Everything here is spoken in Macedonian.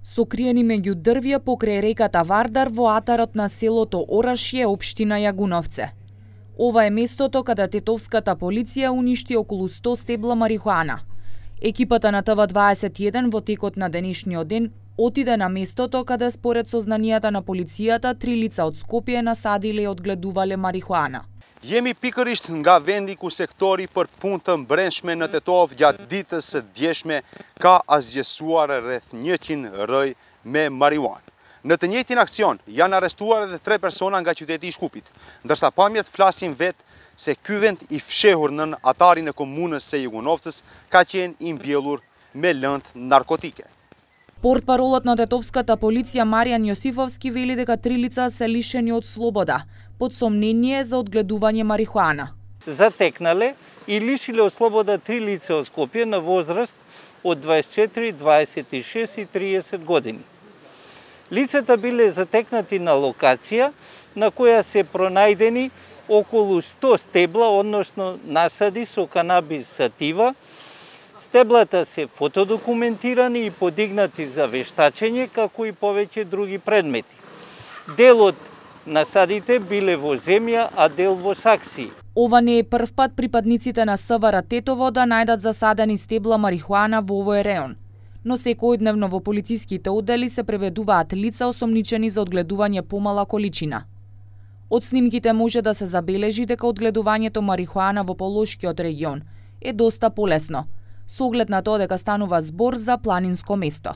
Сокриени меѓу дрвја покрај реката Вардар во атарот на селото Орашје, општина Јагуновце. Ова е местото каде тетовската полиција уништи околу 100 стебла марихуана. Екипата на ТВ21 во текот на денешниот ден отиде на местото каде според сознанијата на полицијата 3 лица од Скопје насадиле и одгледувале марихуана. Jemi pikërisht nga vendi ku sektori për punë të brendshme në Tetov gjatë ditës së djeshme ka asgjësuar rreth 100 rrëj me marijuanë. Në të njëjtin aksion janë arrestuar edhe 3 persona nga qyteti i Shkupit, ndërsa pamjet flasin vetë se ky vend i fshehur nën atarin e komunës së Јагуновцës ka qenë i mbjellur me lëndë narkotike. Портпаролот на тетовската полиција Маријан Јосифовски вели дека 3 лица се лишени од слобода под сомнение за одгледување марихуана. Затекнале и лишиле од слобода 3 лица од Скопје на возраст од 24, 26 и 30 години. Лицата биле затекнати на локација на која се пронајдени околу 100 стебла, односно насади со канабис сатива. Стеблата се фотодокументирани и подигнати за вештачење, како и повеќе други предмети. Дел од насадите биле во земја, а дел во сакси. Ова не е прв пат припадниците на СВР Тетово да најдат засадени стебла марихуана во овој реон. Но секојдневно во полициските оддели се преведуваат лица осомничени за одгледување помала количина. Од снимките може да се забележи дека одгледувањето марихуана во Полошкиот регион е доста полесно, со оглед на тоа дека станува збор за планинско место.